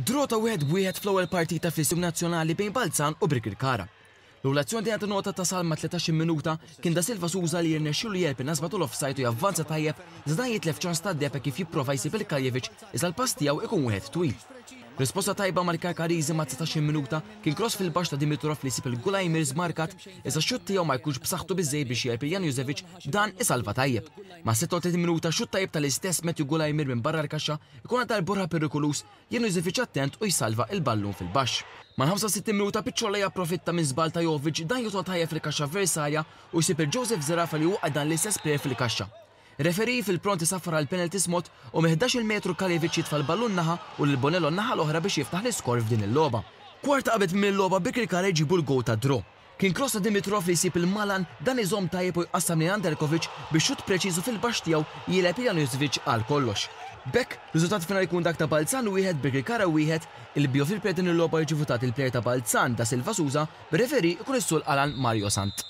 Draw ta' 1-1 fl-ewwel partita fl-Istadium Nazzjonali bejn Balzan u Birkirkara. L-ewwel azzjoni tingħata nota tasal mat-13-il minuta kien Da Silva Souza li jirnexxielu jegħleb in-nasba tal-offside u javvanza tajjeb iżda dan jitlef ċans tad-deheb hekk kif jipprova jsib lil Kaljevic iżda l-pass tiegħu ikun wieħed twil. Risposta tajba mal-Karkariżi mat-19-il minuta kien cross fil-baxx ta' Dimitrov li jsib lil Gulajmir żmarkat iżda x-xutt tiegħu ma jkunx b'saħħtu biżżejjed biex jegħleb lil Janjusevic b'dan isalva tajjeb. Mas-36 minuta xutt tajjeb tal-istess Matthew Gulajmir minn barra l-kaxxa Ikun għal darb'oħra perikoluż, Janusevic attent u jsalva il-ballun fil-baxx. Mal-65 minuta Picciola japprofitta minn żball ta' Jovic, dan jidħol tajjeb fil-kaxxa avversarja u jsib lil Joseph Zerafa li waqqa' dan l-istess plejer fil-kaxxa. Referee fil-pront isaffar għal penalty smott u minn 11-il metru Kaljevic jitfa' l-ballun naħa u lil Bonello n-naħa l-oħra biex jiftaħ l-iskor f'din il-logħba. Kwarta qabel tmiem il-logħba Birkirkara jġibu l-gowl tad-draw. Kien kross ta' Dimitrov li jsib 'il Malan, dan iżomm tajjeb u jqassam lejn Anderkovic biex xutt preċiż u fil-baxx tiegħu jilgħeb lil Januzvic għal kollox. B'hekk, riżultat finali jkun dak ta' Balzan wieħed, Birkirkara wieħed, il-Biofil player din il-logħba jiġi votat il-player ta' Balzan, Da Silva Souza, bir-referee ikun is-Sul Alan Mario Sant.